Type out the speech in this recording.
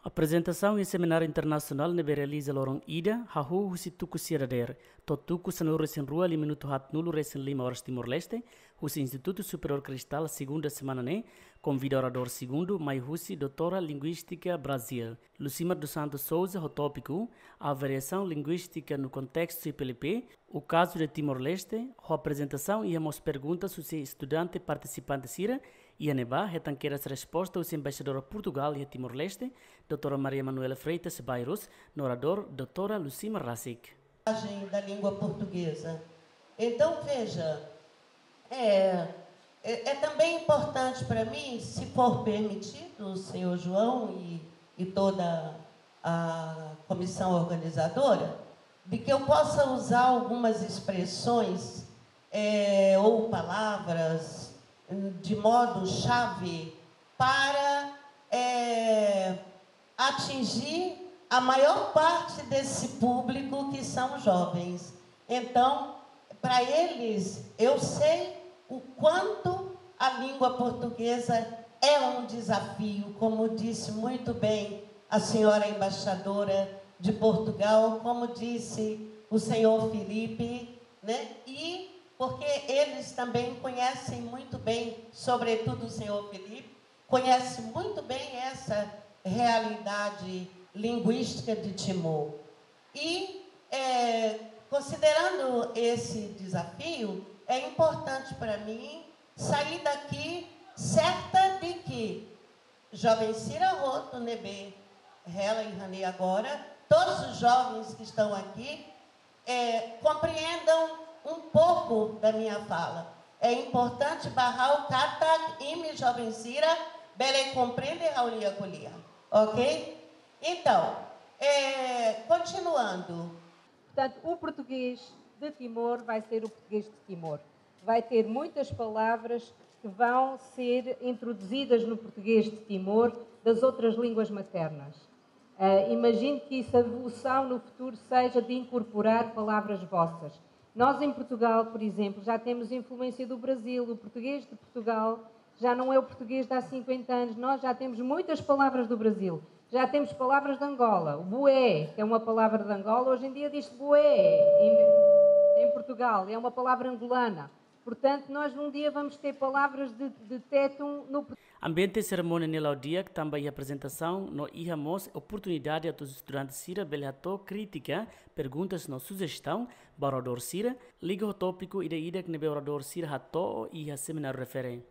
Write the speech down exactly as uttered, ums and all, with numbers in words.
Aprezentasaun iha semináriu internasionál ne'ebé realiza loron ida, hahú husi tuku sia dadeer, to'o tuku sanulu-resin-rua liu minutu haatnulu-resin-lima oras Timor-Leste, husi Instituto Superior Cristal, segunda semana ne'e, konvida oradór segundu, mai husi Doutora Linguística Brazil, Lucimar dos Santos Souza, ho tópiku Avaliasaun Linguística no Contexto C P L P, O Caso de Timor-Leste, ho aprezentasaun iha mós perguntas husi estudante partisipante sira, iha ne'ebá hetan kedas resposta husi Embaixadora Portugal iha Timor-Leste, Doutora Maria Manuela Freitas Bairros, no oradór, Doutora Lucimar rasik. Da língua portuguesa. Então, veja, é, é, é também importante para mim, se for permitido, senhor João e, e toda a comissão organizadora, de que eu possa usar algumas expressões é, ou palavras de modo chave para é, atingir a maior parte desse público que são jovens. Então, para eles, eu sei o quanto a língua portuguesa é um desafio, como disse muito bem a senhora embaixadora de Portugal, como disse o senhor Felipe, né? E porque eles também conhecem muito bem, sobretudo o senhor Felipe, conhece muito bem essa realidade linguística de Timor. E, é, considerando esse desafio, é importante para mim sair daqui certa de que joven sira hotu ne'ebé hela iha ne'e agora, todos os jovens que estão aqui, é, compreendam um pouco da minha fala. É importante ba ha'u katak imi joven sira bele komprende ha'u-nia ko'alia, ok? Então, é, continuando. Portanto, o português de Timor vai ser o português de Timor. Vai ter muitas palavras que vão ser introduzidas no português de Timor das outras línguas maternas. Uh, imagino que essa evolução no futuro seja de incorporar palavras vossas. Nós, em Portugal, por exemplo, já temos influência do Brasil. O português de Portugal já não é o português de há cinquenta anos. Nós já temos muitas palavras do Brasil. Já temos palavras de Angola. O bué, que é uma palavra de Angola, hoje em dia diz-se bué em, em Portugal. É uma palavra angolana. Portanto, nós um dia vamos ter palavras de, de tétum no Portugal. Ambiente serimónia ne'e la'o di'ak, tanba iha aprezentasaun no iha mós oportunidade atu estudante sira bele hato'o krítika, perguntas no sujestaun ba oradór sira, liga ho tópiku ida-idak ne'ebé oradór sira hato'o iha semináriu refere.